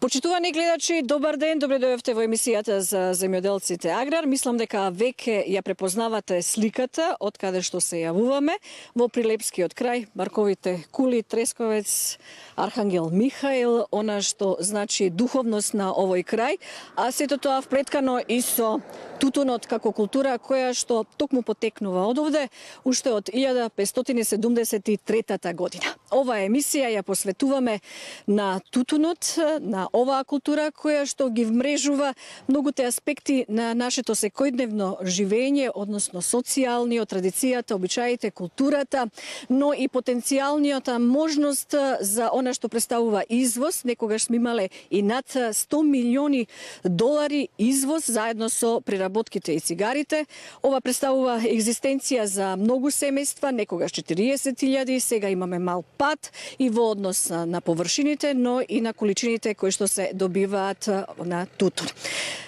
Почитувани гледачи, добар ден, добре дојдовте во емисијата за земјоделците Аграр. Мислам дека веќе ја препознавате сликата од каде што се јавуваме во Прилепскиот крај, Марковите кули, Тресковец, Архангел Михаил, она што значи духовност на овој крај, а сето тоа вплеткано и со тутунот како култура која што токму потекнува од овде уште од 1573 година. Оваа емисија ја посветуваме на тутунот, на оваа култура која што ги вмрежува многуте аспекти на нашето секојдневно живење, односно социјалниот, традицијата, обичаите, културата, но и потенцијалниот можност за она што представува извоз. Некогаш сме имале и над 100 милиони долари извоз заедно со преработките и цигарите. Ова представува екзистенција за многу семејства, некогаш 40.000, сега имаме мал пат и во однос на површините, но и на количините кои што се добиваат на тутун.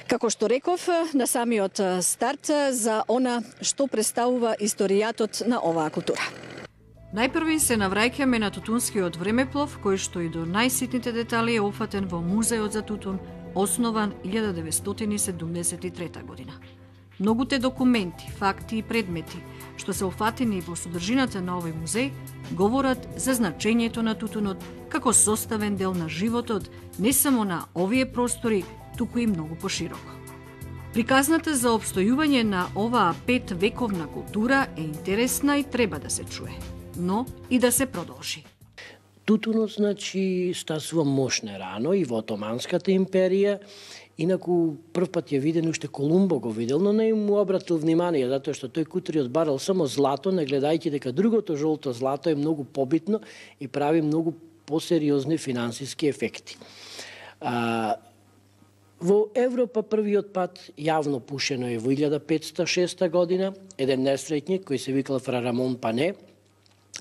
Како што реков на самиот старт за она што представува историјатот на оваа култура. Најпрви се навраќаме на тутунскиот времеплов, кој што и до најситните детали е опфатен во Музеот за тутун, основан 1973 година. Многуте документи, факти и предмети што се офатени во содржината на овој музеј говорат за значењето на тутунот како составен дел на животот не само на овие простори, туку и многу пошироко. Приказната за обстојување на оваа 5 вековна култура е интересна и треба да се чуе, но и да се продолжи. Тутунот, значи, стасува мощна рано и во Отоманската империја. Инаку прв пат ја виден уште Колумбо го видел, но не му обратил внимание, затоа што тој Кутриот барал само злато, не гледајќи дека другото жолто злато е многу побитно и прави многу посериозни финансиски ефекти. Во Европа првиот пат јавно пушено е во 1506 година, еден несреќник кој се викал Фра Рамон Пане,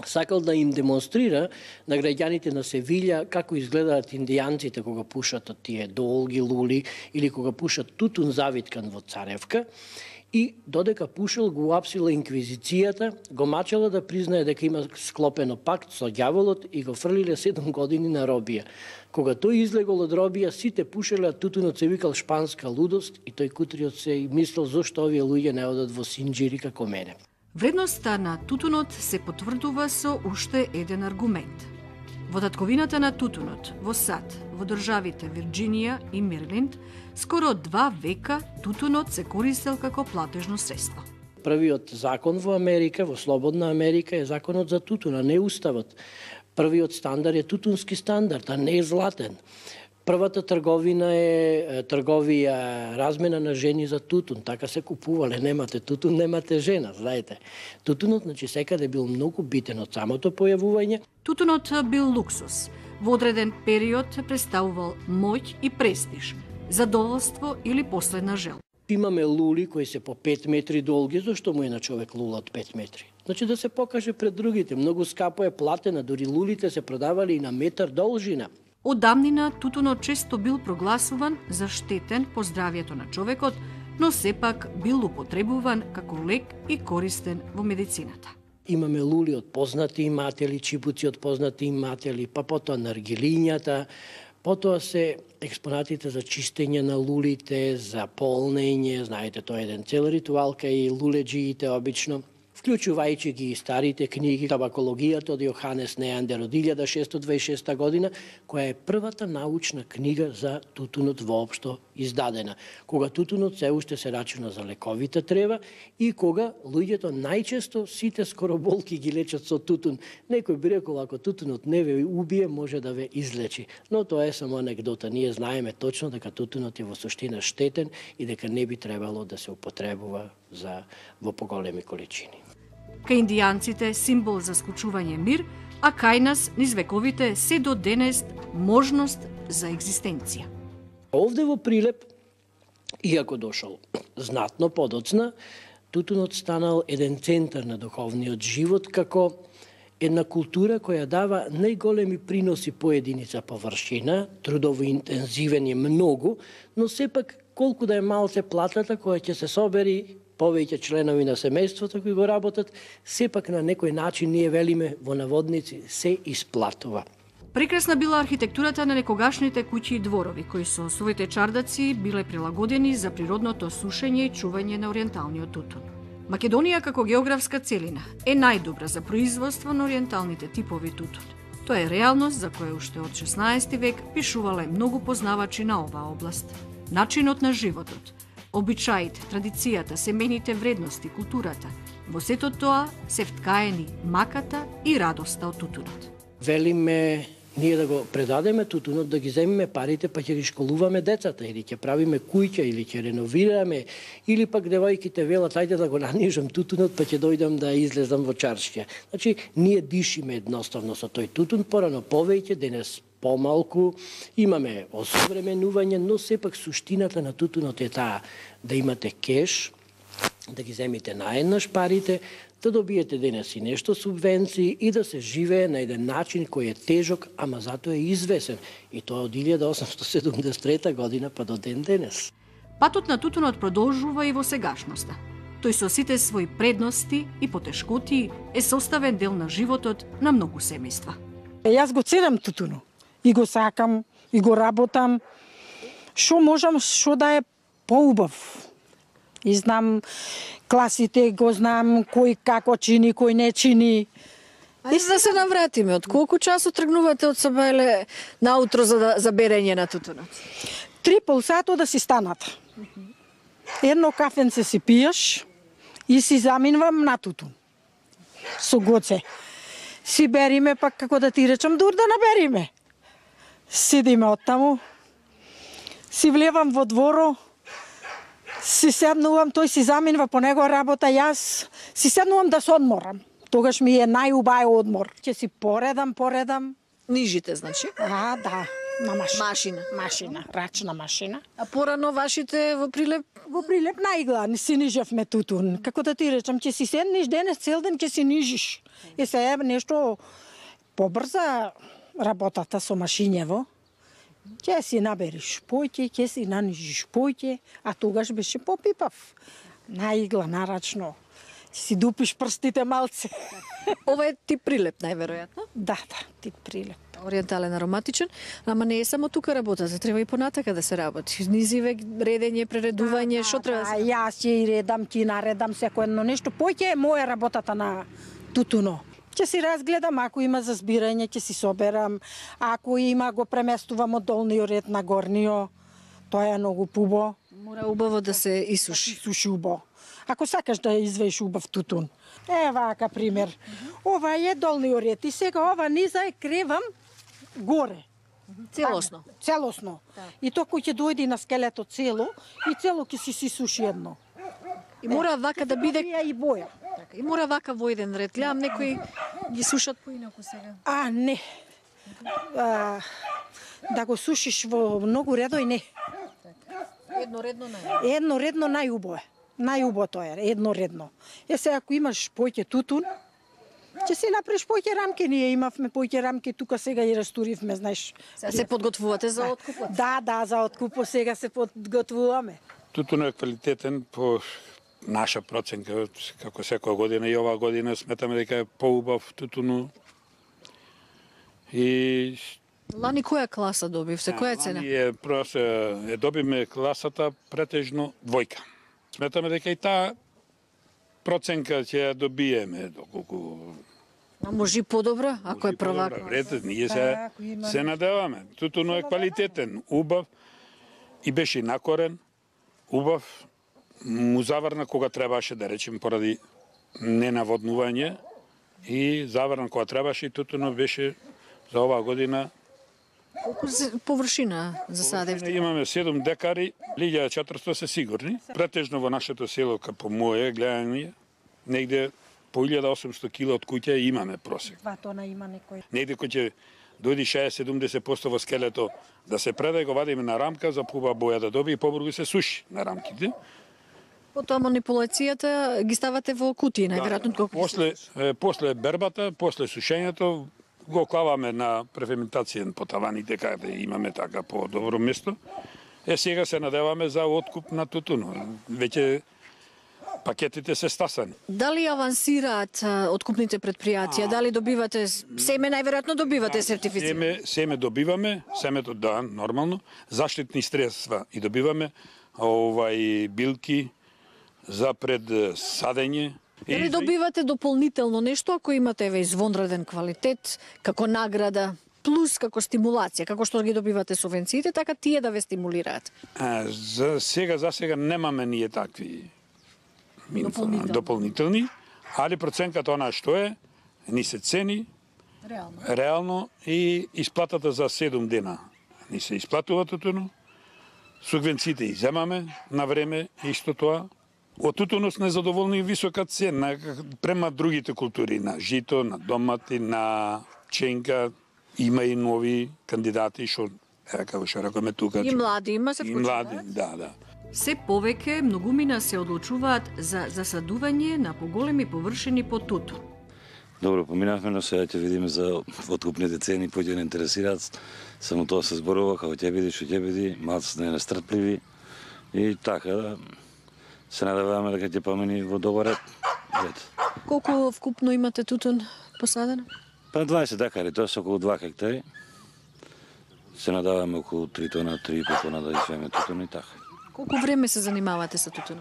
сакал да им демонстрира на граѓаните на Севилја како изгледаат индијанците кога пушат од тие долги лули или кога пушат тутун завиткан во царевка, и додека пушил го уапсила инквизицијата, го мачала да признае дека има склопено пакт со ѓаволот и го фрлиле 7 години на робија. Кога тој излегол од робија, сите пушеле, а тутунот се викал шпанска лудост и тој Кутриот се мислел зошто овие луѓе не одат во синџири како мене. Вредноста на тутунот се потврдува со уште еден аргумент. Во татковината на тутунот, во САД, во државите Вирџинија и Мериленд, скоро 2 века тутунот се користел како платежно средство. Првиот закон во Америка, во слободна Америка, е законот за тутун, а не уставот. Првиот стандард е тутунски стандард, а не е златен. Првата трговина е трговија размена на жени за тутун. Така се купувале, немате тутун, немате жена, знаете. Тутунот, значи, секаде бил многу битен од самото појавување. Тутунот бил луксус. Во одреден период представувал моќ и престиж, задоволство или последна жел. Имаме лули кои се по 5 метри долги, зашто му е на човек лула од 5 метри? Значи да се покаже пред другите. Многу скапо е платена, дури лулите се продавали и на метар должина. Од давнина тутунот често бил прогласуван за штетен по здравјето на човекот, но сепак бил употребуван како лек и користен во медицината. Имаме лули од познати иматели, чипуци од познати иматели, па потоа наргилињата, потоа се експонатите за чистење на лулите, за полнење, знаете, тоа е еден цел ритуал кај луледжиите обично, вклучувајќи ги и старите книги, табакологијата од Јоханес Неандер од 1626 година, која е првата научна книга за тутунот воопшто издадена, кога тутунот се уште се рачуна за лековита трева и кога луѓето најчесто сите скоро болки ги лечат со тутун. Некој би рекол, ако тутунот не ве убие, може да ве излечи. Но тоа е само анекдота. Ние знаеме точно дека тутунот е во суштина штетен и дека не би требало да се употребува во поголеми количини. Кај индијанците символ за склучување мир, а кај нас низ вековите се до денес можност за екзистенција. Овде во Прилеп, иако дошол знатно подоцна, тутунот станал еден центар на духовниот живот како една култура која дава најголеми приноси по единица површина, трудово интензивен е многу, но сепак колку да е малце платата која ќе се собери повеќе членови на семејството кои го работат, сепак на некој начин ние велиме во наводници се исплатува. Прекрасна била архитектурата на некогашните куќи и дворови, кои со своите чардаци биле прилагодени за природното сушење и чување на ориенталниот тутун. Македонија како географска целина е најдобра за производство на ориенталните типови тутун. Тоа е реалност за која уште од 16 век пишувале многу познавачи на оваа област. Начинот на животот, обичаите, традицијата, семејните вредности, културата, во сето тоа се вткаени маката и радоста од тутунот. Велиме ние да го предадеме тутунот, да ги земеме парите, па ќе ги школуваме децата, или ќе правиме куќа, или ќе реновираме, или пак девојките велат, ајде да го нанижам тутунот, па ќе дојдам да излезам во чаршија. Значи, ние дишиме едноставно со тој тутун, порано повеќе, денес помалку, имаме осовременување, но сепак суштината на тутунот е таа да имате кеш, да ги земите наеднаш парите, да добиете денес и нешто субвенции и да се живее на еден начин кој е тежок, ама затоа е извесен. И тоа од 1873 година па до ден денес. Патот на тутунот продолжува и во сегашноста. Тој со сите своји предности и потешкоти е составен дел на животот на многу семејства. Јас го ценам тутуно. И го сакам, и го работам. Што можам, што да е поубав. И знам класите, го знам кој како чини, кој не чини. Ајде да се навратиме. Од колку часу тргнувате од Сабајле наутро за берење на тутунот? 3,5 сато да си станат. Едно кафенце си пиеш и си заминувам на тутун. Со гоце. Си бериме, пак како да ти речам, дур да набериме. Седиме оттаму, си влевам во дворо, си седнувам, тој си заминува по него работа, јас си седнувам да се одморам. Тогаш ми е најубај одмор. Ќе си поредам. Нижите, значи? Да, на Машина. Машина, рачна машина. А порано вашите во Прилеп? Во Прилеп наигла си нижевме тутун. Како да ти речам, ќе си седнеш денес цел ден ќе си нижиш. И се е нешто побрза работата со машињево. Ќе си набериш поќе, ќе си нанижиш поќе, а тогаш беше попипав. Наигла, нарачно. Ќе си дупиш прстите малце. Ова е тип Прилеп, најверојатно? Да, тип Прилеп. Ориентален, ароматичен, ама не е само тука работата, треба и понатака да се работи. Низиве, редење, прередување, што треба да се? Јас ќе и редам, ти наредам секој едно нешто. Поќе е моја работата на тутуно. Ќе си разгледам, ако има за збирање, ќе си соберам. Ако има, го преместувам од долниот ред на горниот. Тоа е многу пубо. Мора убаво да се исуши. Суши убаво. Ако сакаш да извееш убав тутун. Вака пример. Ова е долниот ред и сега ова низа е кревам горе. Целосно. Целосно. И тоа кој ќе дојде на скелето цело и цело ќе си суши едно. И мора вака да биде и боја. И мора вака во еден ред. Гледам некои ги сушат поинаку сега. Не. Да го сушиш во многу редој не. Едноредно најубаво е. Најубаво тоа е, едноредно. Сега ако имаш поќе тутун, ќе си направиш поќе рамки. Ние имавме поќе рамки, тука сега и растуривме, знаеш. Сега се подготвувате за откупот? Да, за откупот сега се подготвуваме. Тутунот е квалитетен по наша проценка, како секоја година и оваа година сметаме дека е поубав тутуну. И лани која класа добивте? Која цена? Лани просто добиме класата претежно двојка. Сметаме дека и таа проценка ќе ја добиеме доколку. А може и подобра, ако е прва класа. Ред, ние се надеваме. Тутуно е квалитетен, убав и беше накорен, убав, му заврна кога требаше, да речем, поради ненаводнување и заврна кога требаше и тутуно беше за оваа година. Колку површина засадевте? Имаме 7 декари, 1400 се сигурни. Претежно во нашето село, како моје гледање, негде по 1800 кила од куќа имаме просек. 2 тона има некој. Негде кој ќе дојди 60-70% во скелето да се предаде, го вадиме на рамка за пуба боја да доби и побрзо се суши на рамките. Потоа манипулацијата ги ставате во кутии, најверојатно. После бербата, после сушењето, го клаваме на преферментацијен по таваните, каде имаме така по добро место. Сега се надеваме за откуп на тутуно. Веќе пакетите се стасани. Дали авансираат откупните предпријатија? Дали добивате семе, најверојатно добивате сертифицирано? Семе добиваме, семето да, нормално, заштитни средства и добиваме, билки за пред садење. Дали добивате дополнително нешто ако имате извонреден квалитет, како награда, плюс како стимулација, како што ги добивате субвенциите, така тие да ве стимулираат? За сега немаме ние такви дополнителни, али проценката она што е, ни се цени реално и исплатата за 7 дена ни се исплатува тутуно, субвенциите иземаме на време, исто тоа. Од тутуно сме задоволни и висока цена према другите култури, на жито, на домати, на пченка. Има и нови кандидати што како што рекоме тука. И млади има се вклучуваат? И млади, да. Се повеќе многумина се одлучуваат за засадување на поголеми површини по тутун. Добро, поминавме, но сега ќе видиме за откупните цени, кои ќе не интересираат. Само тоа се зборува, како ќе биде, што ќе биде, малку сме нестрпливи и така се надеваме дека ќе помини во добар ред. Колку вкупно имате тутун посадено? Па 20 декари, тоа се околу 2 хектари. Се надаваме околу 3 тона, 3,5 тона да извеме тутун и така. Колку време се занимавате со тутун?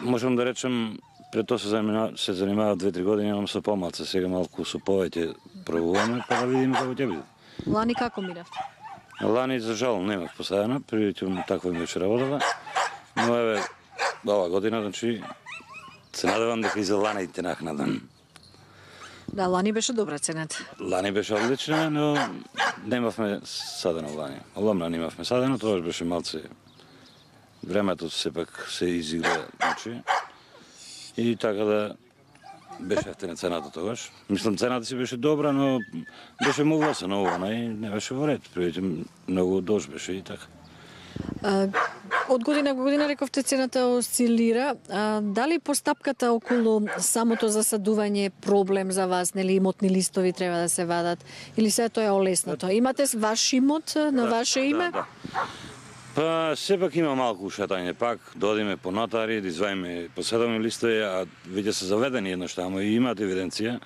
Можам да речем, пред тоа се занимавав 2-3 години, имам со помалце, сега малку со повеќе пробуваме, па да видиме како ќе биде. Лани како минавте? Лани, за жал, немав посадена, прилично таква ми беше работата, но еве, ова година, значи, се надевам дека и за лани те нахнадам. Да, лани беше добра цената. Лани беше одлична, но немавме садено лани. Ломна немавме садено, тоа беше малце. Времето сепак се изигра, значи. И така да беше ефтина цената тогаш. Мислам, цената си беше добра, но беше могла се ново, и не беше во ред. Превите многу дож беше и така. Од година во година рековте цената осцилира. Дали постапката околу самото засадување е проблем за вас, нели имотни листови треба да се вадат или се тоа е олеснато? Имате ваш имот на ваше име? Да. Па сепак има малку шетање пак, додиме по нотари, да изваиме поседаме листови, а веќе се заведени еднаш таму и имаат евиденција.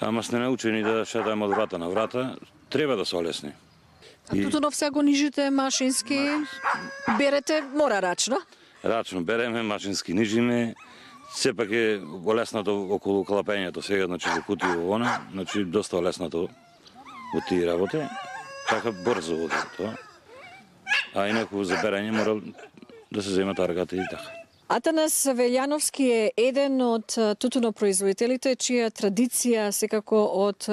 Ама сме научени да шетаме од врата на врата, треба да се олесни. А тутунов сега го нижите машински, берете, мора рачно? Рачно береме, машински нижиме, сепак е олеснато околу клапењето сега, значи во кутија во она, значи доста олеснато во тие работи, така брзо оди тоа. А инаку за берење мора да се зема таргата и така. Атанас Велјановски е еден од тутунопроизводителите чија традиција секако од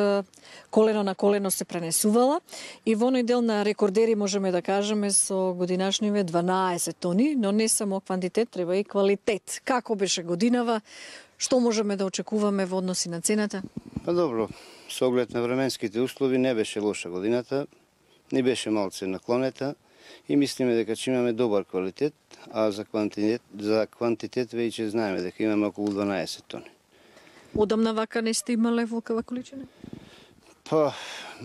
колено на колено се пренесувала и во оној дел на рекордери можеме да кажеме со годинашниве 12 тони, но не само квантитет, треба и квалитет. Како беше годинава? Што можеме да очекуваме во односи на цената? Па добро, со оглед на временските услови не беше лоша годината, не беше малце наклонета и мислиме дека ќе имаме добар квалитет, а за квантитет веќе знаеме дека имаме околу 12 тони. Одамна вака не сте имале волкава количина? Па,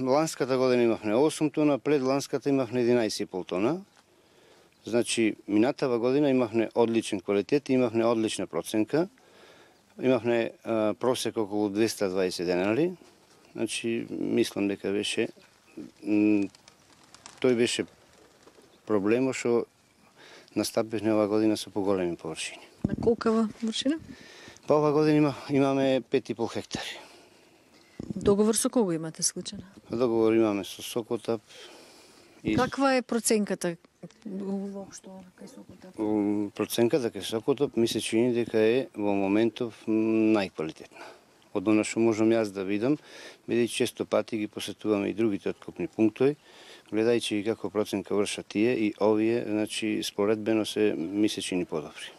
ланската година имавме 8 тона, пред ланската имавме 11,5 тона. Значи, минатава година имавме одличен квалитет, имавме одлична проценка. Имавме просек околу 220 денари. Значи, мислам дека беше тој беше проблемот што настапивме оваа година со поголеми површини. На колкава површина? Па оваа година имаме 5,5 хектари. Договор со кого имате склучен? Договор имаме со Сокотап. Каква е проценката воопшто кај Сокотап? Проценката кај Сокотап ми се чини дека е во моментов најквалитетна. Од она што можам јас да видам, бидејќи често пати ги посетуваме и другите откупни пунктови, гледајќи како проценка вршат тие и овие, значи споредбено се ми се чини подобри.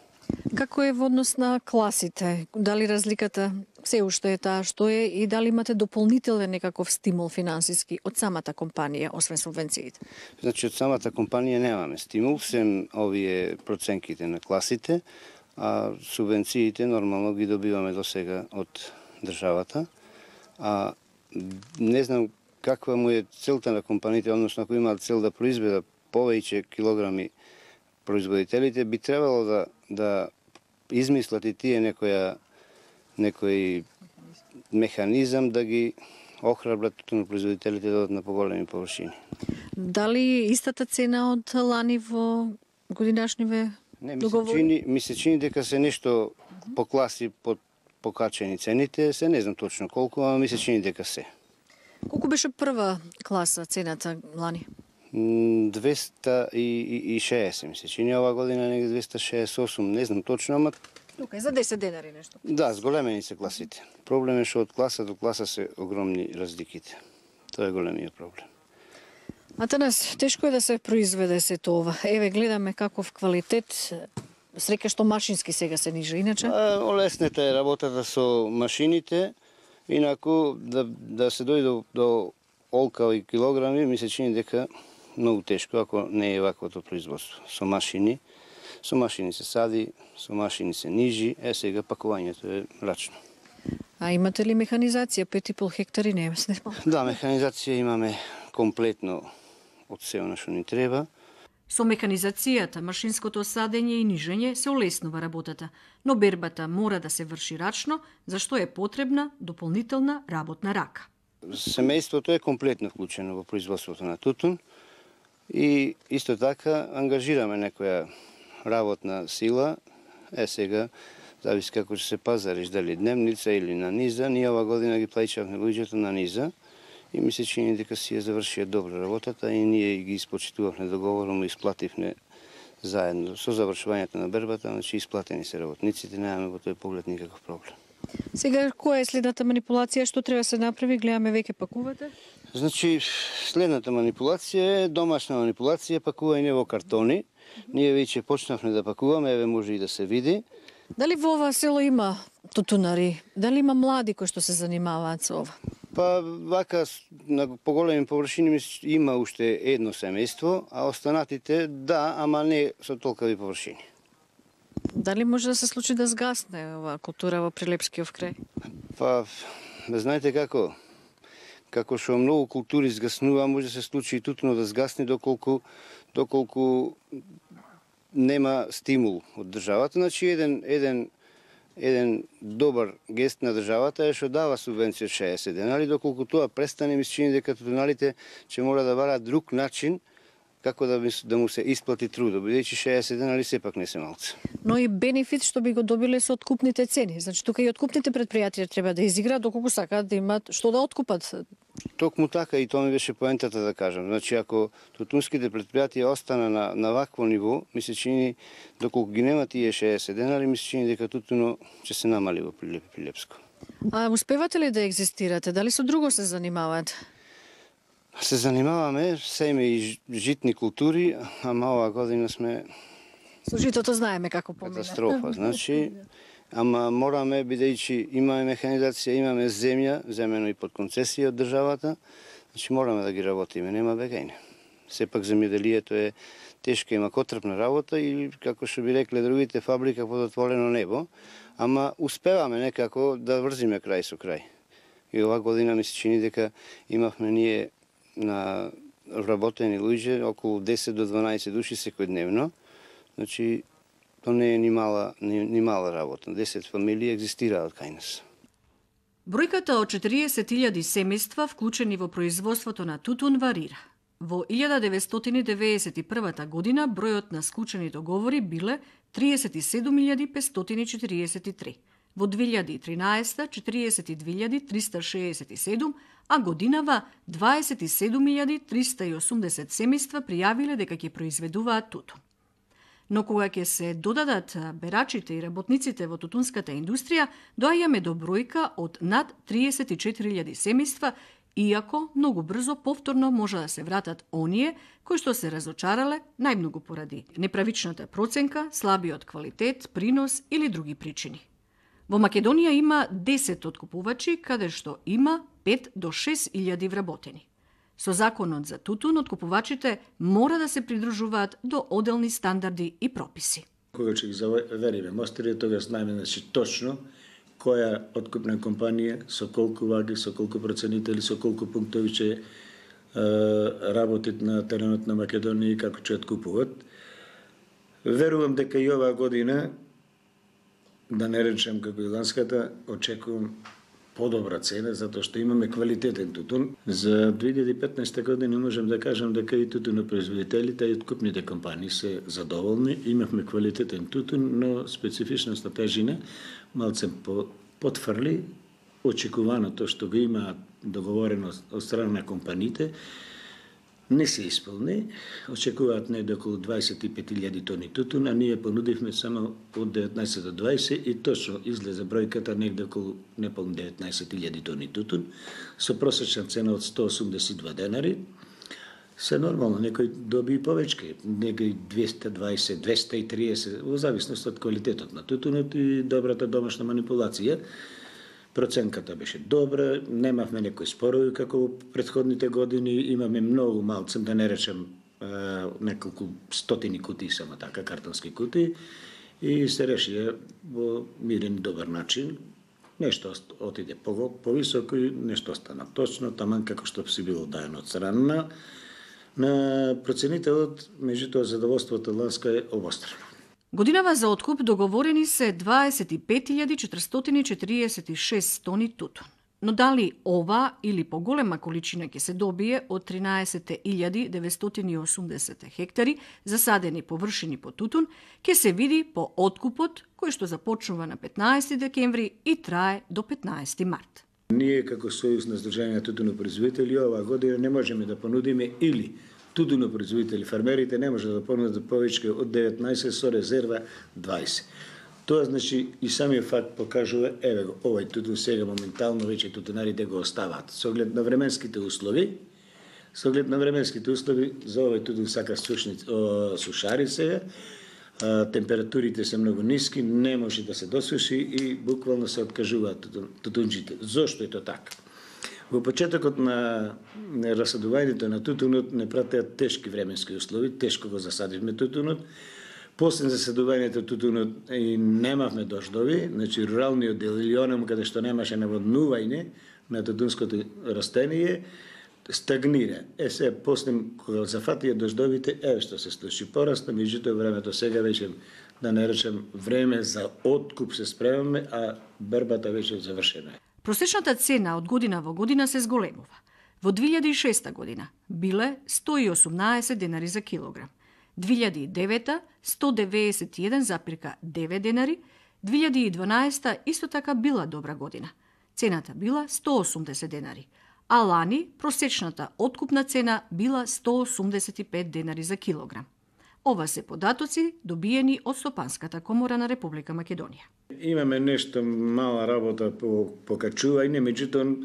Како е во однос на класите? Дали разликата се уште е таа што е и дали имате дополнителен некаков стимул финансиски од самата компанија, освен субвенциите? Значи од самата компанија немаме стимул, сем овие проценките на класите, а субвенциите нормално ги добиваме до сега од државата. А не знам каква му е целта на компаниите, односно ако имаат цел да произведат повеќе килограми производителите, би требало да да измислат и тие некој механизам да ги охрабрат тутунопроизводителите да одат на поголеми површини. Дали истата цена од лани во годинашниве договори? Ми се чини дека се нешто по класи покачени цените, се не знам точно колку, ама ми се чини дека се. Колку беше прва класа цената лани? 260 ми се чини, ова година негде 268, не знам точно, ама Тука е за 10 денари нешто. да, зголемени се класите. Проблем е што од класа до класа се огромни разликите. Тоа е големиот проблем. Атанас, тешко е да се произведе се тоа. Еве, гледаме каков квалитет. Среќа што машински сега се нижа, иначе? Олеснета е работата со машините, инаку да се дојде до олкави килограми, ми се чини дека многу тешко, ако не е ваквото производство. Со машини се сади, со машини се нижи, сега пакувањето е рачно. А имате ли механизација? 5,5 хектари не е. Да, механизација имаме комплетно од се она што ни треба. Со механизацијата, машинското садење и нижење се олеснува работата, но бербата мора да се врши рачно, зашто е потребна дополнителна работна рака. Семејството е комплетно вклучено во производството на тутун и исто така ангажираме некоја работна сила. Сега зависи како ќе се пазариш, дали дневница или на низа. Ние ова година ги плаќавме луѓето на низа и ми се чини дека си ја завршија добро работата и ние ги испочитувавме договором и исплативме заедно со завршувањето на бербата, значи исплатени се работниците, немаме во тој поглед никаков проблем. Сега, која е следната манипулација? Што треба да се направи? Гледаме веќе пакувате? Значи, следната манипулација е домашна манипулација, пакување во картони. Ние веќе почнавме да пакуваме, еве може и да се види. Дали во ова село има тутунари? Дали има млади кои што се занимаваат со ова? Па вака на поголеми површини има уште едно семејство, а останатите да, ама не со толкави површини. Дали може да се случи да згасне оваа култура во Прилепскиот крај? Па, знаете како? Како што многу култури згаснува, може да се случи и тутуно да згасне доколку нема стимул од државата. Значи, еден добар гест на државата е што дава субвенција од 60 денари, доколку тоа престане, ми се чини дека тутуналите ќе мора да бараат друг начин како да му се исплати трудот, бидејќи 60 денари сепак не се малце. Но и бенефит што би го добиле со откупните цени. Значи, тука и откупните предпријатија треба да изиграат доколку сакаат да имат што да откупат. Токму така и тоа ми беше поентата да кажам. Значи, ако тутунските предпријатија остана на вакво ниво, ми се чини, доколку ги нема тие 60 денари, ми се чини дека тутуно ќе се намали во Прилепско. А успевате ли да екзистирате? Дали со друго се занимавате? Се занимаваме, семе и житни култури, ама оваа година сме... Со житото знаеме како помина. Катастрофа, значи, ама мораме, бидејќи имаме механизација, имаме земја, земено и под концесија од државата, значи мораме да ги работиме, нема бегајне. Сепак земјоделието е тешка, има котрпна работа и, како што би рекле другите, фабрика под отворено небо, ама успеваме некако да врзиме крај со крај. И оваа година ми се чини дека имавме ние на вработени луѓе околу 10 до 12 души секојдневно. Значи, тоа не е ни мала работа. 10 фамилии екзистираат кај нас. Бројката од 40.000 семејства вклучени во производството на тутун варира. Во 1991 година бројот на склучени договори биле 37.543. Во 2013 42.367, а годинава 27.380 семејства пријавиле дека ќе произведуваат тутун. Но кога ќе се додадат берачите и работниците во тутунската индустрија, доаѓаме до бројка од над 34.000 семејства, иако многу брзо повторно може да се вратат оние кои што се разочарале најмногу поради неправичната проценка, слабиот квалитет, принос или други причини. Во Македонија има 10 откупувачи, каде што има 5 до 6.000 вработени. Со законот за тутун, откупувачите мора да се придружуваат до оделни стандарди и прописи. Кога ќе ги завериме мостери, тогаш знаеме точно која откупна компанија, со колку ваги, со колку проценители, со колку пунктови ќе работат на теренот на Македонија и како ќе откупуват. Верувам дека и оваа година, да не речем како и ланската, очекувам подобра цена, затоа што имаме квалитетен тутун. За 2015 година можам да кажам дека и тутунопроизводителите и откупните компании се задоволни. Имавме квалитетен тутун, но специфичната тежина малце потврли очекуваното што го има договорено од страна на компаниите. Не се исполни, очекуваат негде околу 25.000 тони тутун, а ние понудивме само од 19 до 20 и точно излезе бројката негде околу неполни 19.000 тони тутун, со просечна цена од 182 денари. Се нормално, некој доби и повече, некој 220, 230, во зависност од квалитетот на тутунот и добрата домашна манипулација. Проценката беше добра, немавме некои спорови како во претходните години, имаме многу малцем, да не речем неколку стотини кутии, само така, картонски кутии, и се решија во мирен и добар начин. Нешто отиде повисоко и нешто остана точно, таман како што си било дајано од страна на проценителот, меѓутоа задоволството ланска е обострано. Годинава за откуп договорени се 25.446 тони тутун. Но дали ова или поголема количина ќе се добие од 13.980 хектари засадени површини по тутун, ќе се види по откупот кој што започнува на 15 декември и трае до 15 март. Ние како Сојуз на Сдруженијата тутунопроизводители оваа година не можеме да понудиме или тутунопроизводители, фермерите не може да понудат повеќе од 19 со резерва 20. Тоа значи и самиот факт покажува, еве го, овој тутун сега моментално веќе тутунарите го оставаат. Со оглед на временските услови, за овој тутун сака сушари сега, температурите се многу ниски, не може да се досуши и буквално се откажуваат тутунџите. Зошто е тоа така? Во почетокот на расадувањето на тутунот не пратеа тешки временски услови, тешко го засадивме тутунот. После засадувањето тутунот и немавме дождови, значи руралниот дел или онам каде што немаше наводнување на тутунското растение, стагнира. Се после кога зафатија дождовите, еве што се случи, порасна, меѓутоа времето сега веќе, да не речем, време за откуп се спремаме, а бербата веќе завршена е. Просечната цена од година во година се зголемува. Во 2006 година биле 118 денари за килограм, 2009 191,9 денари, 2012 исто така била добра година. Цената била 180 денари, а лани просечната откупна цена била 185 денари за килограм. Ова се податоци добиени од Стопанската комора на Република Македонија. Имаме нешто мала работа по покачување, меѓутоа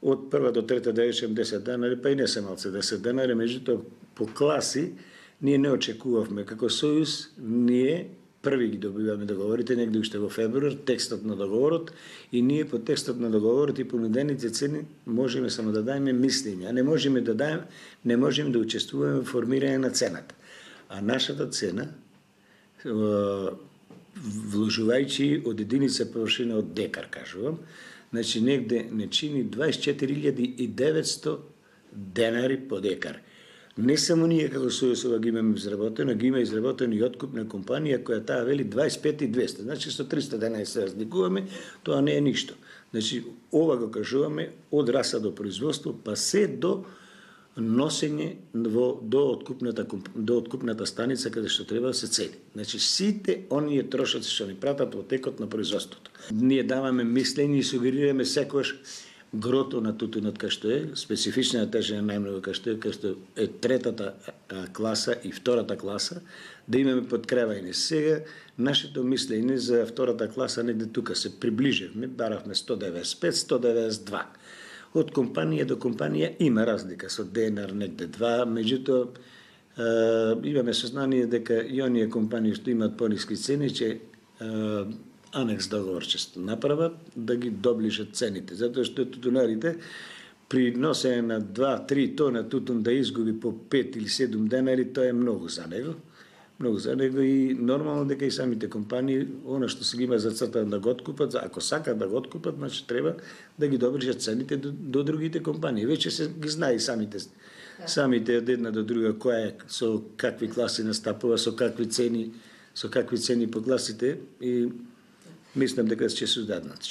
од прва до трета да речем 10 денари, па и не се малце 10 денари, меѓутоа по класи ние не очекувавме како Сојуз, ние први ги добиваме договорите негде уште во февруар, текстот на договорот, и ние по текстот на договорот и понудените цени можеме само да даеме мислење, а не можеме да учествуваме во формирање на цената. А нашата цена, вложувајќи од единица површина од декар, кажувам, значи негде не чини 24.900 денари по декар. Не само ние како Сојузова ги имаме изработено, ги има изработено и откупна компанија која таа вели 25.200. Значи со 300 денари се разликуваме, тоа не е ништо. Значи ова го кажуваме од раса до производство, па се до носење до откупната станица каде што треба да се цели. Значи сите оние трошоци што ни пратат во текот на производството. Ние даваме мислење и сугерираме секогаш грото на тутунот кај што е, специфична тежина најмногу кај што е третата класа и втората класа, да имаме подкревање. Сега нашето мислење за втората класа негде тука се приближивме, баравме 195-192. Од компанија до компанија има разлика со денар негде 2, меѓутоа имаме сознание дека и оние компании што имаат пониски цени ќе анекс договор ќе направат да ги доближат цените, затоа што тутунарите при носење на 2-3 тона тутун да изгуби по 5 или 7 денари, тоа е многу за него. Многу за него и нормално дека и самите компании, она што се ги има зацртано да го откупат, ако сакат да го откупат, значи треба да ги доближат цените до другите компании. Веќе се ги знае самите од една до друга која е, со какви класи настапува, со какви цени со какви цени погласите и мислам дека ќе се даднат.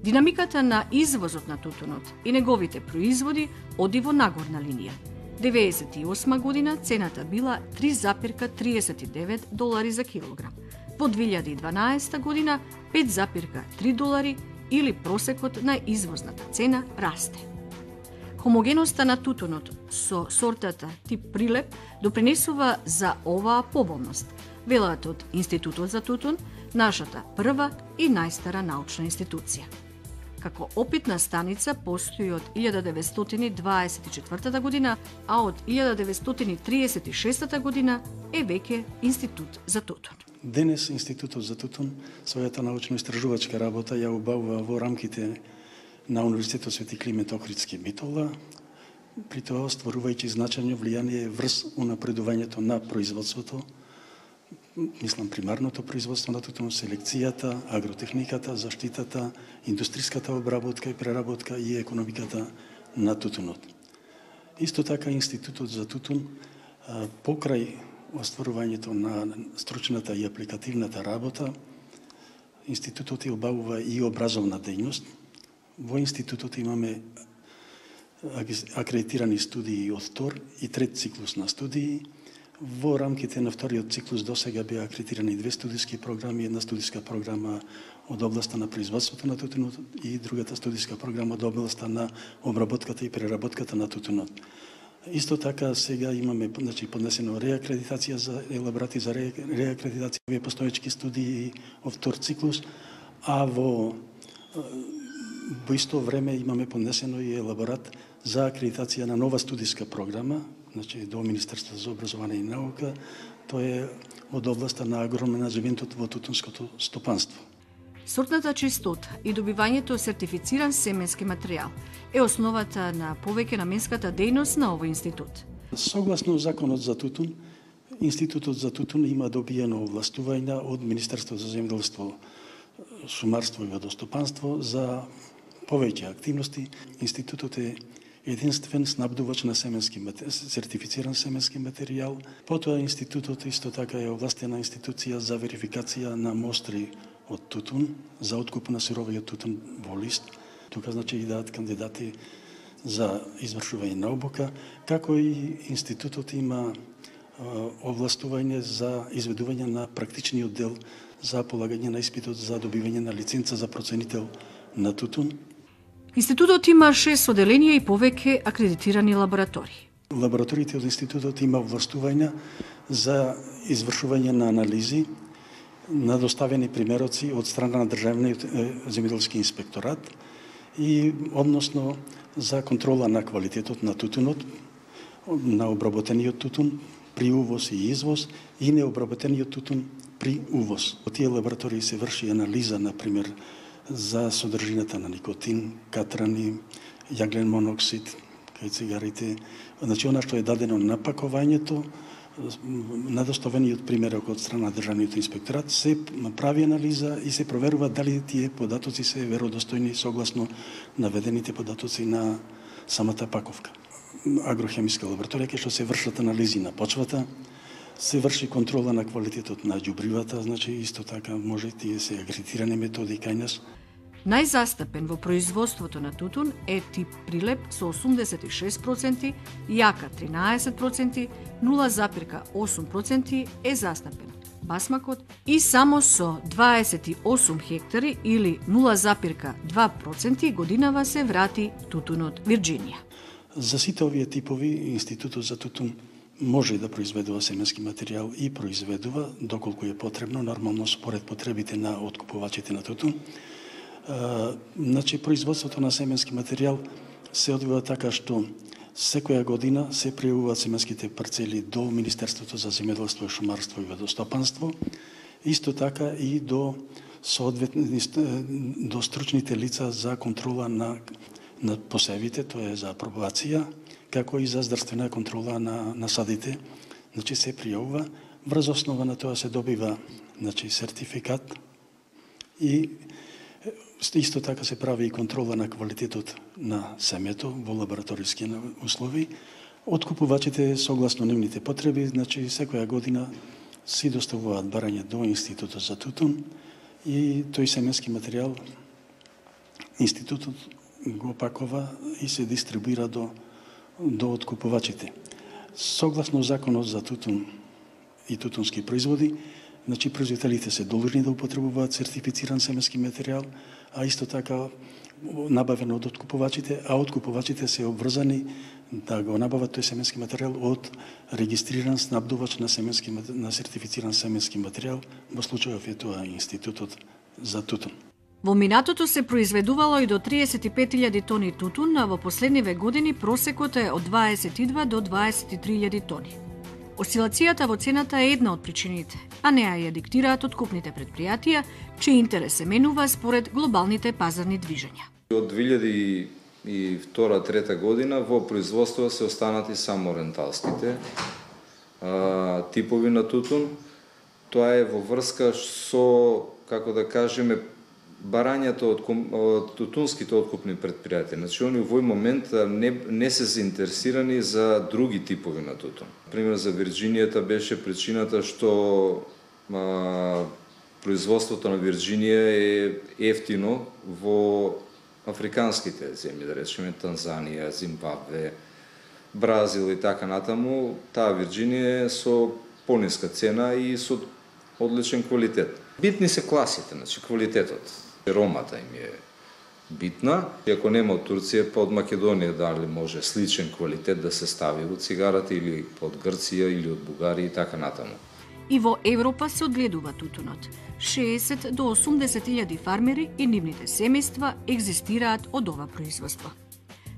Динамиката на извозот на тутунот и неговите производи оди во нагорна линија. 1998 година цената била $3,39 за килограм. Во 2012 година $5,3 или просекот на извозната цена расте. Хомогеноста на тутунот со сортата тип прилеп допринесува за оваа поволност, велат од Институтот за тутун, нашата прва и најстара научна институција. Како опитна станица постои од 1924 година, а од 1936 година е веќе Институт за тутун. Денес Институтот за тутун својата научно-истражувачка работа ја убавува во рамките на Универзитетот Свети Климент Охридски Битола, при тоа стварувајќи значајно влијание врз унапредувањето на производството, мислам примарното производство на тутун, селекцијата, агротехниката, заштитата, индустриската обработка и преработка и економиката на тутунот. Исто така Институтот за тутун покрај остварувањето на стручната и апликативната работа, Институтот ја обавува и образовна дејност. Во Институтот имаме акредитирани студии од втор и трет циклус на студии. Во рамките на вториот циклус до сега беа акредитирани 2 студиски програми, една студиска програма од областа на производството на тутунот и другата студиска програма од областа на обработката и преработката на тутунот. Исто така сега имаме поднесено реакредитација за елаборати за реакредитација овие постоечки студии од втор циклус, а во исто време имаме поднесено и елаборат за акредитација на нова студиска програма, до Министерството за образование и наука, тоа е од областа на агроменаџментот во тутунското стопанство. Сортната чистота и добивањето сертифициран семенски материјал е основата на повеќе наменската дејност на овој институт. Согласно законот за тутун, Институтот за тутун има добиено овластувања од Министерството за земјоделство, шумарство и водостопанство за повеќе активности. Институтот е единствен снабдувач на сертифициран семенски материјал. Потоа Институтот исто така е овластена институција за верификација на мостри од тутун, за откуп на сировиот тутун во лист. Тука идат кандидати за извршување на обука, како и Институтот има овластување за изведување на практичниот дел за полагање на испитот за добивање на лиценца за проценител на тутун. Институтот има 6 оделенија и повеќе акредитирани лаборатории. Лабораториите од Институтот има овластувања за извршување на анализи на доставени примероци од страна на Државниот земјоделски инспекторат и односно за контрола на квалитетот на тутунот, на обработениот тутун при увоз и извоз и необработениот тутун при увоз. Во тие лаборатории се врши анализа, например, за содржината на никотин, катрани, јаглен моноксид, кај цигарите. Значи, она што е дадено на пакувањето, на доставениот примерок од страна на Државниот инспекторат, се прави анализа и се проверува дали тие податоци се веродостојни согласно наведените податоци на самата паковка. Агрохемиска лабораторија, кај што се вршат анализи на почвата, се врши контрола на квалитетот на ѓубривата, значи исто така може тие се акредитирани методи кај нас. Најзастапен во производството на тутун е тип прилеп со 86%, јака 13%, 0,8% е застапен басмакот и само со 28 хектари или 0,2% годинава се врати тутунот Вирџинија. За сите овие типови Институтот за тутун може да произведува семенски материјал и произведува доколку е потребно, нормално според потребите на откупувачите на тутун. Значи, производството на семенски материјал се одвива така што секоја година се пријавуваат семенските парцели до Министерството за земјоделство, шумарство и водостопанство, исто така и до стручните лица за контрола на посевите, тоа е за апробација, како и за здравствена контрола на садите. Значи, се пријавува, врз основа на тоа се добива сертификат и исто така се прави и контрола на квалитетот на семето во лабораториски услови, Откупувачите согласно нивните потреби, значи секоја година си доставуваат барање до Институтот за тутун и тој семенски материјал Институтот го пакова и се дистрибуира до откупувачите. Согласно Законот за тутун и тутунски производи, значи производителите се должни да употребуваат сертифициран семенски материјал, а исто така набавен од откупувачите, а откупувачите се обврзани да го набават тој семенски материјал од регистриран снабдувач на сертифициран семенски материјал, во случајов е тоа Институтот за тутун. Во минатото се произведувало и до 35.000 тони тутун, а во последниве години просекот е од 22 до 23.000 тони. Осцилацијата во цената е една од причините, а неа ја диктираат откупните предпријатија, чиј интерес се менува според глобалните пазарни движења. Од 2002-2003 година во производство се останати само ренталските типови на тутун. Тоа е во врска со, како да кажеме, барањето од тутунските откупни предпријатија. Значи, они во овој момент не се заинтересирани за други типови на тутун. Пример, за Вирџинијата беше причината што производството на Вирџинија е ефтино во африканските земји, да речеме Танзанија, Зимбабве, Бразил и така натаму. Таа Вирџинија е со пониска цена и со одличен квалитет. Битни се класите, значи квалитетот. Ромата им е битна. И ако нема од Турција, па од Македонија дали може сличен квалитет да се стави од цигарата или од Грција или од Бугарија и така натаму. И во Европа се одгледува тутунот. 60 до 80.000 фармери и нивните семејства екзистираат од ова производство.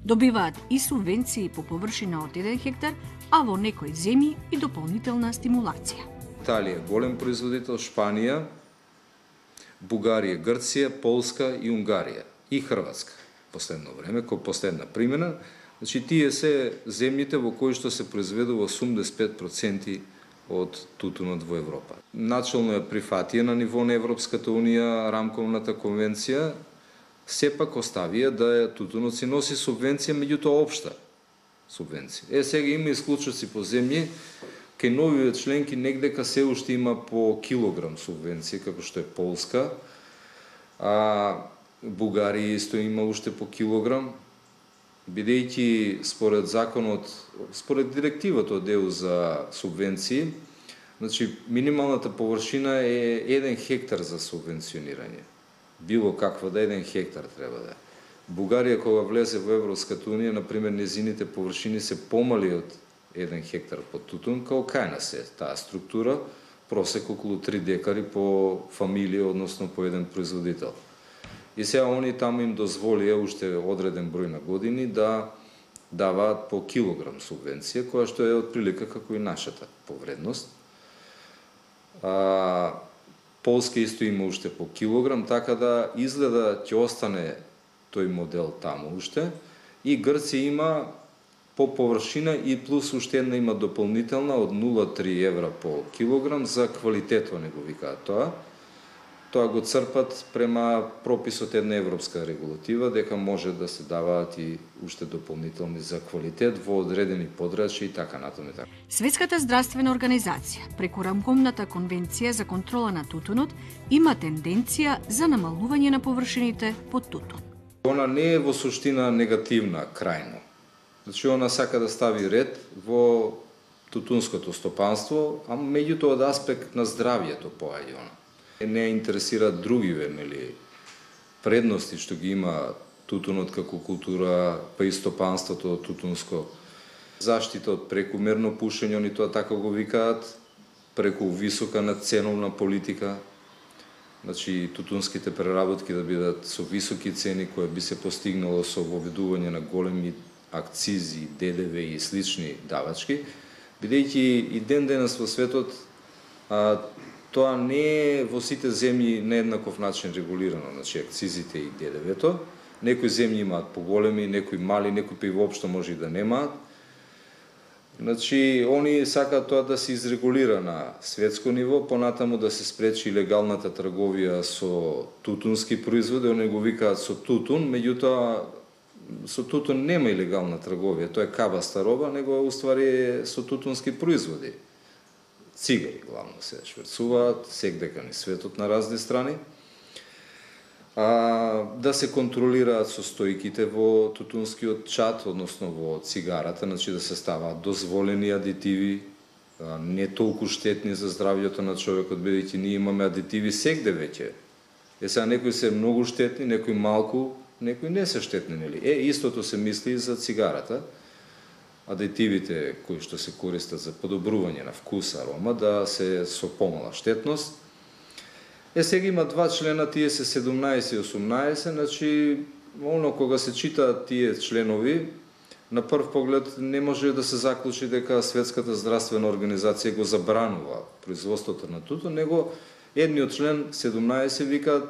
Добиваат и субвенции по површина од 1 хектар, а во некои земји и дополнителна стимулација. Италија голем производител, Шпанија, Бугарија, Грција, Полска и Унгарија и Хрватска. Последно време, кој последна примена, значи тие се земјите во кои што се произведува 85% од тутунот во Европа. Начално е прифатија на ниво на Европската унија рамковната конвенција, сепак оставија да тутунот си носи субвенција, меѓутоа општа субвенција. Сега има исклучоци по земји, кај новиве членки негдека се уште има по килограм субвенција, како што е Полска, а Бугарија исто има уште по килограм, бидејќи според законот, според директивата од ЕУ за субвенции, значи минималната површина е 1 хектар за субвенционирање. Било каква да 1 хектар треба да е. Бугарија кога влезе во Европската унија, например, незините површини се помали од 1 хектар по тутун, као кај нас е таа структура, просек околу 3 декари по фамилија, односно по еден производител. И сега они таму им дозволија уште одреден број на години да даваат по килограм субвенција, која што е отприлика како и нашата повредност. Полска исто има уште по килограм, така да изгледа ќе остане тој модел таму уште. И Грција има по површина и плюс уште една има дополнителна од 0,3 евра по килограм за квалитетот, не го викаат тоа. Тоа го црпат према прописот една европска регулатива, дека може да се даваат и уште дополнителни за квалитет во одредени подрачја и така натаму. Светската здравствена организација, преку рамковната конвенција за контрола на тутунот, има тенденција за намалување на површините под тутун. Она не е во суштина негативна крајно. Значи, она сака да стави ред во тутунското стопанство, а меѓутоа од аспект на здравјето поаѓа она. Не интересираат другиве, нели, предности што ги има тутунот како култура, па и стопанството тутунско. Заштита од прекумерно пушење, они тоа така го викаат, преку висока надценовна политика. Значи, тутунските преработки да бидат со високи цени, кои би се постигнало со воведување на големи акцизи, ДДВ и слични давачки, бидејќи и ден денес во светот тоа не е во сите земји на еднаков начин регулирано, значи акцизите и ДДВ-то. Некои земји имаат поголеми, некои мали, некои па и воопшто може и да немаат. Значи, они сакаат тоа да се изрегулира на светско ниво, понатаму да се спречи легалната трговија со тутунски производи, они го викаат со тутун, меѓутоа со тутун нема илегална трговија, тоа е кабаста роба, него уствари со тутунски производи. Цигари главно се шверцуваат, секдека ни светот на разни страни. Да се контролираат состојките во тутунскиот чад, односно во цигарата, значи да се ставаат дозволени адитиви, не толку штетни за здравјето на човекот, бидејќи ние имаме адитиви сегде веќе. Сега некои се многу штетни, некои малку, некои не се штетни, нели? Истото се мисли и за цигарата. Адитивите кои што се користат за подобрување на вкус, арома, да се со помала штетност. Сега има два члена, тие се 17 и 18, значи, кога се читаат тие членови, на прв поглед не може да се заклучи дека Светската здравствена организација го забранува производството на тутун, него едниот член 17 вика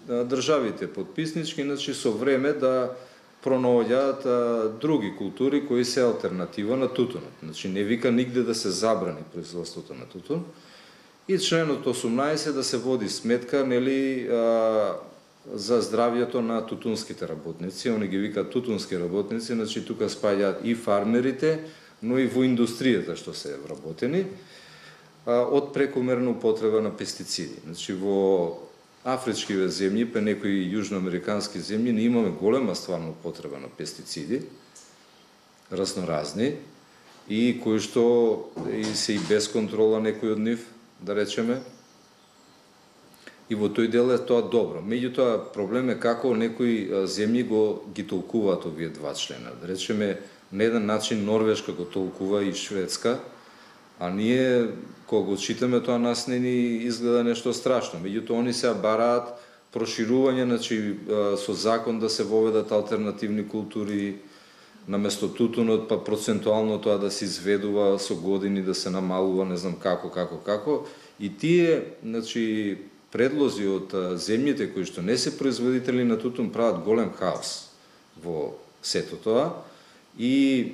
државите подписнички, значи со време да пронаоѓаат други култури кои се алтернатива на тутунот. Значи не вика нигде да се забрани производството на тутун. И членот 18 да се води сметка, нели, за здравјето на тутунските работници. Они ги викаат тутунски работници, значи тука спаѓаат и фармерите, но и во индустријата што се вработени, од прекомерна употреба на пестициди. Значи во афричкиве земји, па некои јужноамерикански земји, не имаме голема стварна употреба на пестициди, разноразни, и кои што се и без контрола некои од нив, да речеме, и во тој дел е тоа добро. Меѓутоа, проблем е како некои земји ги толкуваат овие два члена. Да речеме, на еден начин Норвешка го толкува и Шведска, а ние, кога го читаме, тоа нас не ни изгледа нешто страшно. Меѓутоа, они сега бараат проширување, значи, со закон да се воведат алтернативни култури, наместо тутунот, па процентуално тоа да се изведува со години, да се намалува, не знам како. И тие, значи, предлози од земјите кои што не се производители на тутун прават голем хаос во сето тоа и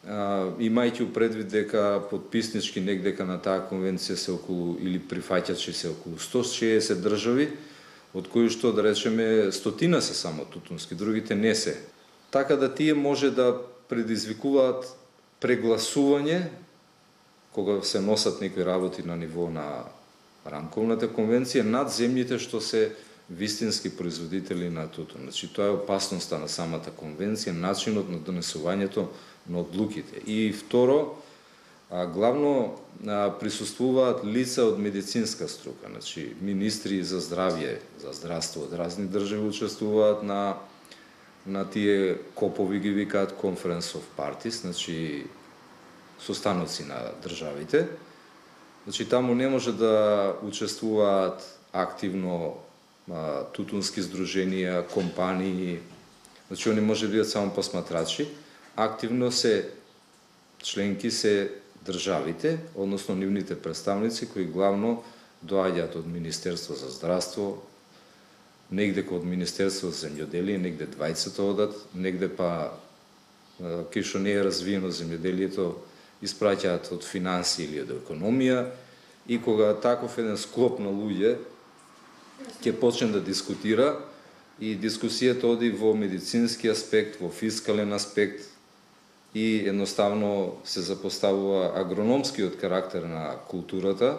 имајќи предвид дека подписнички негдека на таа конвенција се околу, или прифаќачи се околу 160 држави, од кои што, да речеме, 100 се само тутунски, другите не се. Така да тие може да предизвикуваат прегласување кога се носат некои работи на ниво на рамковната конвенција над земјите што се вистински производители на тутун. Значи, тоа е опасноста на самата конвенција, начинот на донесувањето на одлуките. И второ, главно присуствуваат лица од медицинска струка, значи министри за здравје, за здравство од разни држави учествуваат на тие копови, ги викаат Conference of Parties, значи состаноци на државите. Значи, таму не може да учествуваат активно тутунски здруженија, компании, значи, они може да бидат само посматрачи. Активно се членки се државите, односно нивните представници, кои главно доаѓаат од Министерство за здравство, негде од Министерство за земјоделие, негде двајцата одат, негде па, кај што не е развиено земјоделието, испраќаат од финанси или од економија, и кога таков еден склоп на луѓе ќе почне да дискутира, и дискусијата оди во медицински аспект, во фискален аспект, и едноставно се запоставува агрономскиот карактер на културата,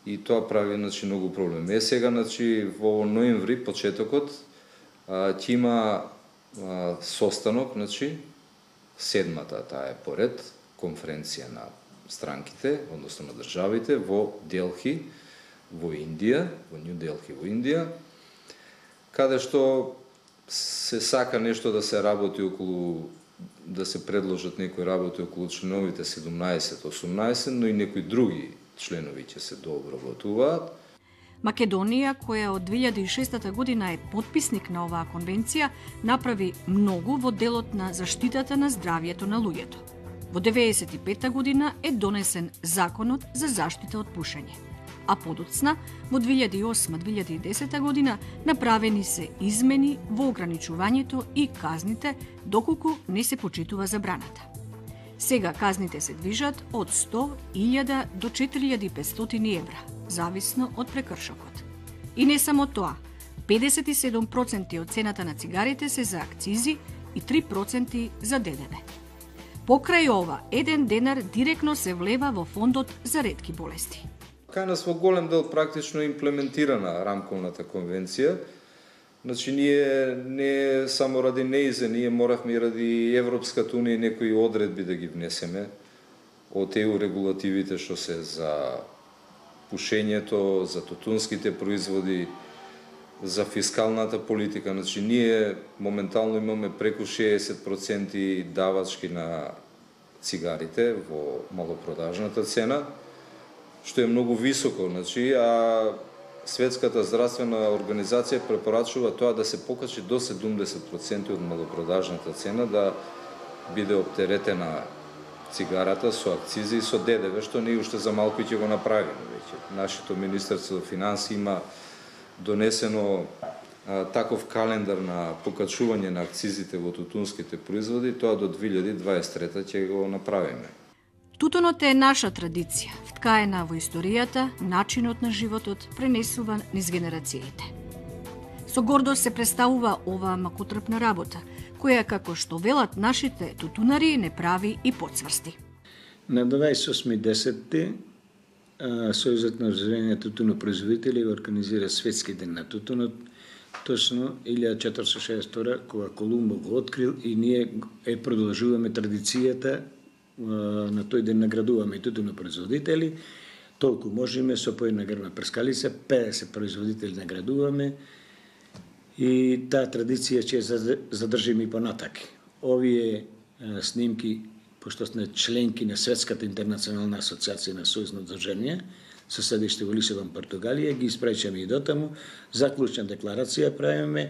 и тоа прави, значи, многу проблем. Сега, значи, во ноември, почетокот, ќе има состанок, значи, седмата, таа е поред, конференција на странките, односно на државите, во Делхи, во Индија, во Нью Делхи, во Индија, каде што се сака нешто да се работи околу, да се предложат некои работи околу членовите 17-18, но и некои други членови ќе се дообработуваат. Македонија, која од 2006 година е потписник на оваа конвенција, направи многу во делот на заштитата на здравјето на луѓето. Во 1995 година е донесен Законот за заштита од пушење, а подоцна, во 2008-2010 година, направени се измени во ограничувањето и казните, доколку не се почитува забраната. Сега казните се движат од 100.000 до 4.500 евра, зависно од прекршокот. И не само тоа, 57% од цената на цигарите се за акцизи и 3% за ДДВ. Покрај ова, 1 денар директно се влева во фондот за ретки болести. Кај нас во голем дел практично имплементирана рамковната конвенција. Значи, ние не само ради неизе, ние моравме и ради Европската унија некои одредби да ги внесеме од EU регулативите што се за пушењето, за тутунските производи, за фискалната политика. Значи, ние моментално имаме преку 60% давачки на цигарите во малопродажната цена, што е многу високо. Значи, а Светската здравствена организација препорачува тоа да се покачи до 70% од малопродажната цена, да биде оптеретена цигарата со акцизи и со ДДВ, што ние уште за малку ќе го направиме веќе. Нашето Министерство за финансии има донесено таков календар на покачување на акцизите во тутунските производи, тоа до 2023 ќе го направиме. Тутунот е наша традиција, вткаена во историјата, начинот на животот, пренесуван низ генерациите. Со гордост се представува оваа макутрпна работа, која, како што велат нашите тутунари, не прави и подсврсти. На 28.10. Сојузот на Обзрение тутунопроизводители организира Светски ден на тутунот, точно 1462 кога Колумбо го открил, и ние продолжуваме традицијата. На тој ден наградуваме и тутунопроизводители, толку можеме, со по една грбна прскалица, 50 производители наградуваме, и таа традиција ќе задржиме и понатаки. Овие снимки, пошто сме членки на Светската интернационална асоциација на Сојузно Обзрение, со седиште во Лисабон, Португалија, ги испраќаме и дотаму, заклучна декларација правиме,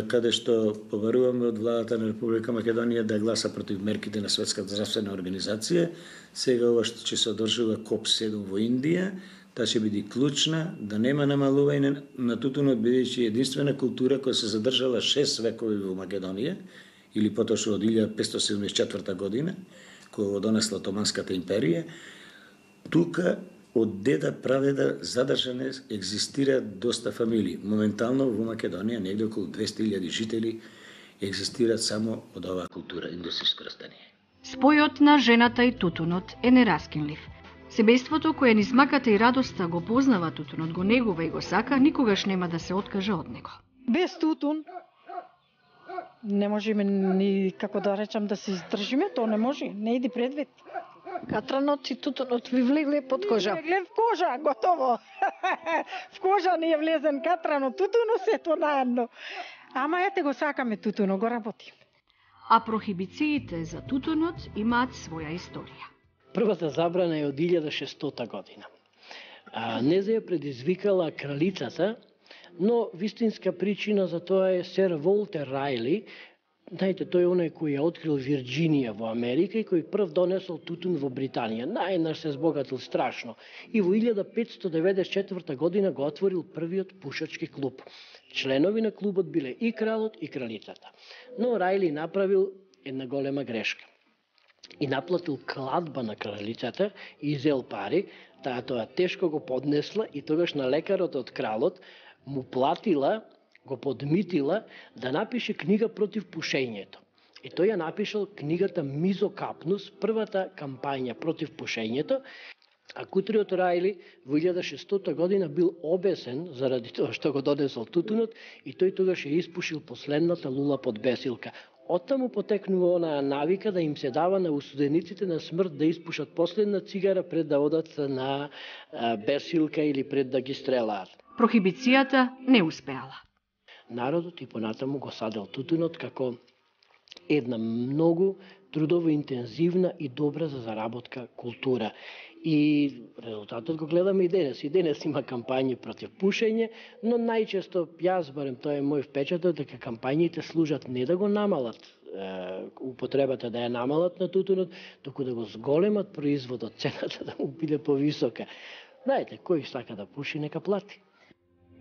каде што побаруваме од владата на Република Македонија да гласа против мерките на Светската здравствена организација. Сега ова што ќе се одржува КОП-7 во Индија, таа ќе биде клучна, да нема намалување на тутунот, бидејќи единствена култура која се задржала 6 векови во Македонија, или поточно од 1574 година, која го донесла Отоманската империја. Тука од деда прадеда задржане екзистираат доста фамилии. Моментално во Македонија негде околу 200.000 жители екзистираат само од оваа култура, индустријско растение. Спојот на жената и тутунот е нераскинлив. Себејството кое низ маката и радоста го познава тутунот, го негува и го сака, никогаш нема да се откаже од него. Без тутун не можеме ни, како да речам, да се издржиме, тоа не може, не иди предвид. Катранот и тутунот ви влегле под кожа. Влегле в кожа, готово. В кожа ни е влезен катранот, тутуно сето наедно. Ама ете го сакаме тутуно, го работиме. А прохибициите за тутунот имаат своја историја. Првата забрана е од 1600 година. Неза ја предизвикала кралицата, но вистинска причина за тоа е сер Волтер Рајли. Знаете, тој е оној кој ја открил Вирџинија во Америка и кој прв донесол тутун во Британија. Најнаш се збогатил страшно. И во 1594 година го отворил првиот пушачки клуб. Членови на клубот биле и кралот и кралицата. Но Рајли направил една голема грешка. И наплатил кладба на кралицата и изел пари, таа тоа тешко го поднесла и тогаш на лекарот од кралот му платила, го подмитила да напише книга против пушењето. И тој ја напишал книгата Мизокапнус, првата кампања против пушењето, а кутриот Рајли во 1600 година бил обесен заради тоа што го донесол тутунот и тој тогаш ја испушил последната лула под бесилка. Оттаму потекнува онаа навика да им се дава на осудениците на смрт да испушат последна цигара пред да одат на бесилка или пред да ги стрелаат. Прохибицијата не успеала. Народот и понатаму го садел тутунот како една многу трудово интензивна и добра за заработка култура. И резултатот го гледаме и денес. И денес има кампањи против пушење, но најчесто, јас барем тоа е мој впечаток, дека кампањите служат не да го намалат употребата, да ја намалат на тутунот, туку да го зголемат производот, цената да му биде повисока. Знаете, кој сака да пуши, нека плати.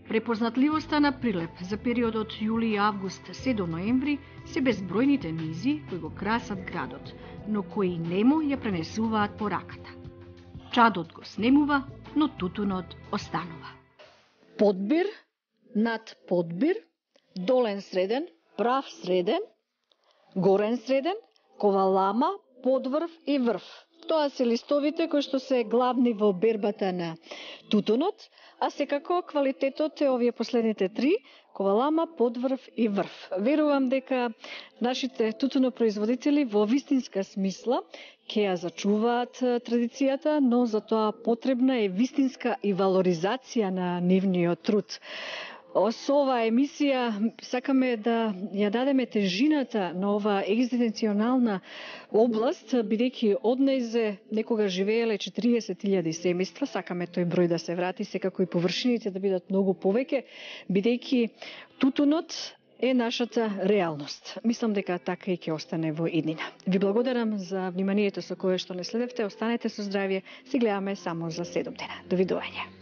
Препознатливоста на Прилеп за периодот јули и август се до ноември се безбројните низи кои го красат градот, но кои нему ја пренесуваат пораката. Чадот го снемува, но тутунот останува. Подбир над подбир, долен среден, прав среден, горен среден, ковалама, подврв и врв. Тоа се листовите кои што се главни во бербата на тутунот, а секако квалитетот е овие последните три: ковалама, подврв и врв. Верувам дека нашите тутунопроизводители во вистинска смисла ќе ја зачуваат традицијата, но за тоа потребна е вистинска и валоризација на нивниот труд. Со оваа емисија сакаме да ја дадеме тежината на оваа екзистенционална област, бидејќи од нејзе некогаш живееле 40.000 семејства, сакаме тој број да се врати, секако и површините да бидат многу повеќе, бидејќи тутунот е нашата реалност. Мислам дека така и ќе остане во иднина. Ви благодарам за вниманието со кое што не следевте, останете со здравје, се гледаме само за 7 дена. Довидување.